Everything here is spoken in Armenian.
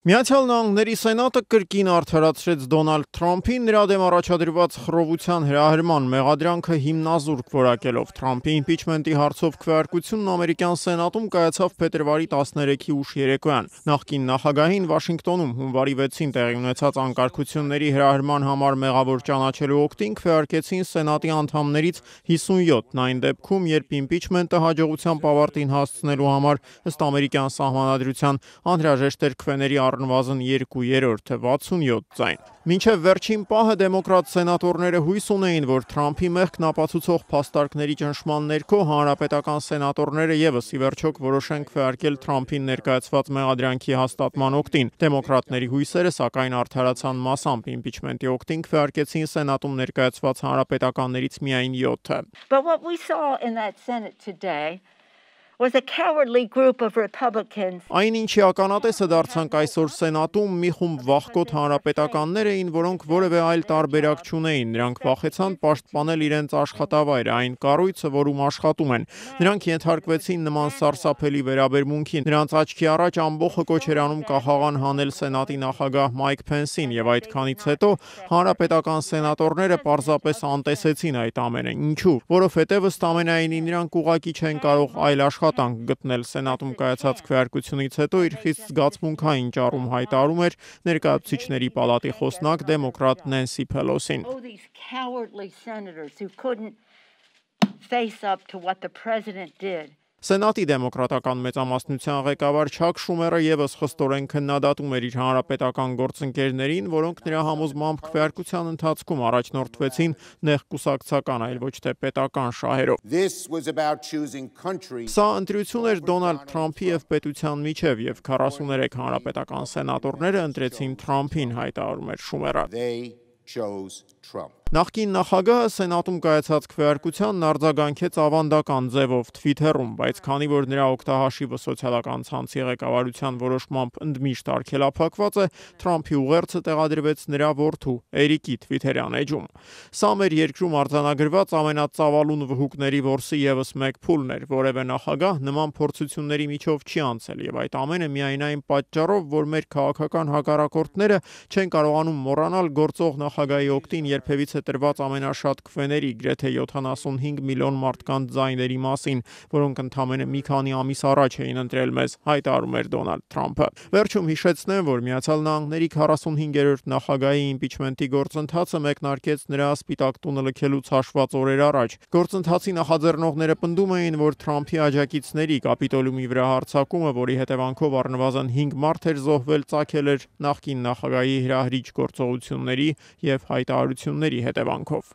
Միացյալ Նահանգների Սենատը կրկին արդարացրեց Դոնալդ Թրամփին նրա դեմ առաջադրված խռովության հրահրման մեղադրանքը հիմնազուրկ որակելով։ Թրամփի իմպիչմենտի հարցով քվեարկությունն ամերիկյան Սենատում կայացավ փետրվարի 13-ի ուշ երեկոյան։ Նախկին նախագահին Վաշինգտոնում հունվարի 6-ին տեղի ունեցած անկարգությունների հրահրման համար մեղավոր ճանաչելու օգտին քվեարկեցին Սենատի անդամներից 57-ն այն դեպքում, երբ իմպիչմենտը հաջողությամբ ավարտին հասցնելու համար ըստ ամերիկյան սահմանադրության անհրաժեշտ էր քվեների առնվազն 2/3-ը 67 ձայն։ Մինչև վերջին պահը դեմոկրատ սենատորները հույս ունեին, որ Թրամփի մեղքն ապացուցող փաստարկների ճնշման ներքո հանրապետական սենատորները ևս ի վերջո կորոշեն քվեարկել Թրամփին ներկայացված մեղադրանքի հաստատման օգտին։ Դեմոկրատների հույսերը սակայն արդարացան մասամբ իմպիչմենտի օգտին քվեարկեցին Սենատում ներկայացված հանրապետականներից միայն 7-ը։ But what we saw in that Senate today was a cowardly group of Republicans. Այն ինչի ականատեսը դարձանք այսօր Սենատում մի խումբ վախկոտ հանրապետականներ էին, որոնք որևէ այլ տարբերակ չունեին։ Նրանք վախեցան պաշտպանել իրենց աշխատավայրը, այն կառույցը, որում աշխատում են։ Նրանք ենթարկվեցին նման սարսափելի վերաբերմունքին։ Նրանց աչքի առաջ ամբողջը կոչ էր անում կախաղան հանել Սենատի նախագահ Մայք Փենսին, եւ այդքանից հետո հանրապետական սենատորները պարզապես անտեսեցին այդ ամենը։ Ինչու՞։ Որովհետև ըստ ամենայնի նրանք ուղղակի չեն կարող այլ աշխատանք գտնել։ Սենատում կայացած քվեարկությունից հետո իր խիստ զգացմունքային ճառում հայտարարում էր ներկայացուցիչների պալատի խոսնակ դեմոկրատ Նենսի Փելոսին։ These cowardly senators who couldn't face up to what the president did. Սենատի դեմոկրատական մեծամասնության ղեկավար Չակ Շումերը ևս խստորեն քննադատում էր իր հանրապետական գործընկերներին, որոնք նրա համոզմամբ քվեարկության ընթացքում առաջնորդվեցին նեղ կուսակցական, այլ ոչ թե պետական շահերով։ Սա ընտրություն էր Դոնալդ Թրամփի եւ պետության միջև, եւ 43 հանրապետական սենատորները ընտրեցին Թրամփին, հայտարարում էր Շումերը։ Նախկին նախագահը Սենատում կայացած քվեարկությանն արձագանքեց ավանդական ձևով Թվիթերում, բայց քանի որ նրա օգտահաշիվը սոցիալական ցանցի ղեկավարության որոշմամբ ընդմիշտ արգելափակված է, Թրամփի ուղերձը տեղադրվեց նրա որդու Էրիկի Թվիթերյան էջում։ Սա մեր երկրում արձանագրված ամենածավալուն վհուկների որսի ևս մեկ փուլն էր, որևէ նախագահ նման փորձությունների միջով չի անցել, եւ այդ ամենը միայն այն պատճառով, որ մեր քաղաքական հակառակորդները չեն կարողանում մոռանալ գործող նախագահի օգտին երբևիցե տրված ամենաշատ քվեների, գրեթե 75 միլիոն մարդկանց ձայների մասին, որոնք ընդամենը մի քանի ամիս առաջ էին ընտրել մեզ, հայտարարում էր Դոնալդ Թրամփը։ Վերջում հիշեցնեմ, որ Միացյալ Նահանգների 45-րդ նախագահի իմպիչմենտի գործընթացը մեկնարկեց նրա Սպիտակ տունը լքելուց հաշված օրեր առաջ։ Գործընթացի նախաձեռնողները պնդում էին, որ Թրամփի աջակիցների Կապիտոլիումի վրա հարձակումը, որի հետևանքով առնվազն 5 մարդ էր զոհվել, ծագել էր նախկին նախագահի հրահրիչ գործողությունների եւ հայտարարությունների հետևանքով։